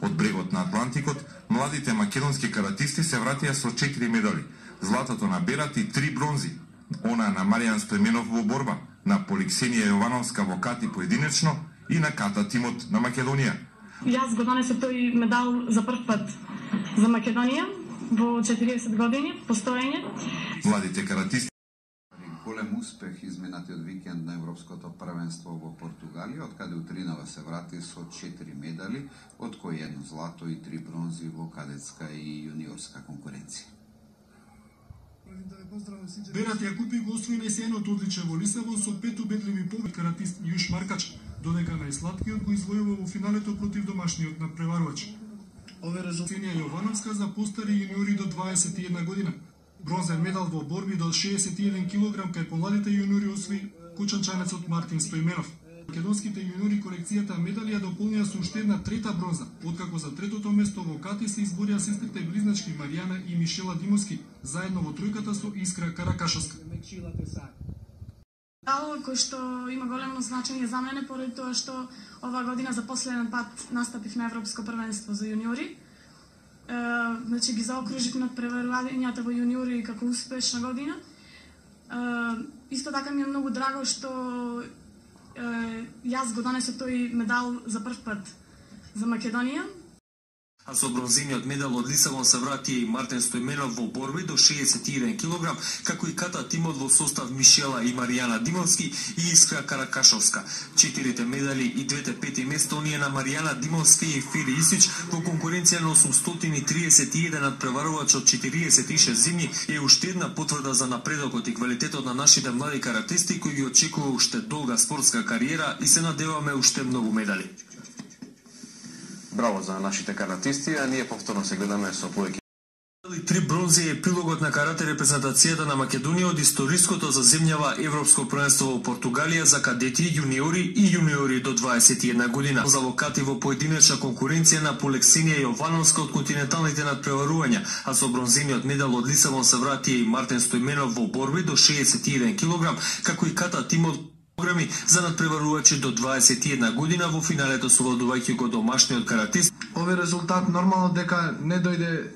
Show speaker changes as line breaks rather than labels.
Од брегот на Атлантикот, младите македонски каратисти се вратија со 4 медали. Златото на Берат и 3 бронзи. Она на Маријан Стојменов во борба, на Поликсенија Јовановска во кати поединечно и на ката тимот на Македонија.
Јас го донесов тој медал за прв пат за Македонија во 40 години постоење.
Младите каратисти
голем успех изминатиот викенд на Европското првенство во Португалија, од каде утринава се врати со 4 медали, од кои 1 злато и 3 бронзи во кадетска и јуниорска конкуренција.
Берат Јакупи го освои најсејното одличие во Лисабон со 5 убедливи победи каратист Јуш Маркач, додека најсладкиот го извојува во финалето против домашниот надпреварувач. Ове резултати Јовановска за постари јуниори до 21 година. Бронзен медал во борби до 61 кг кај помладите јуниори освои кочанчанецот Мартин Стојменов. Македонските јуниори колекцијата медали ја дополнија со уште една трета бронза, откако за третото место во кати се изборија сестрите близначки Маријана и Мишела Димовски, заедно во тројката со Искра Каракашовска.
Медал кој што има големо значење за мене поради тоа што ова година за последен пат настапив на Европско првенство за јуниори. Значи ги заокружив надпреварувањата во јуниори како успешна година. Исто така ми е многу драго што јас го донесов тој медал за прв пат за Македонија.
А со бронзениот медал од Лисабон се врати и Мартин Стојменов во борби до 61 кг, како и ката тимот во состав Мишела и Маријана Димовски и Искра Каракашовска. 4 медали и 2 пети место оние на Маријана Димовски и Фили Исич во конкуренција на 831 надпреварувач од 46 земји е уште една потврда за напредокот и квалитетот на нашите млади каратисти кои ги очекува уште долга спортска кариера и се надеваме уште многу медали.
Браво за нашите каратисти, а ние повторно се гледаме со повеќе.
3 бронзи е прилогот на карате репрезентацијата на Македонија од историското за земјава Европско првенство во Португалија за кадети, јуниори и јуниори до 21 година. За локати во поединечна конкуренција на Поликсенија Јовановска од континенталните надпреварувања, а со бронзениот медал од Лисабон се врати и Мартин Стојменов во борби до 61 кг, како и ката тимот програми за надпреварувачи до 21 година во финалето совладувајќи го домашниот каратист.
Овој резултат нормално дека не дојде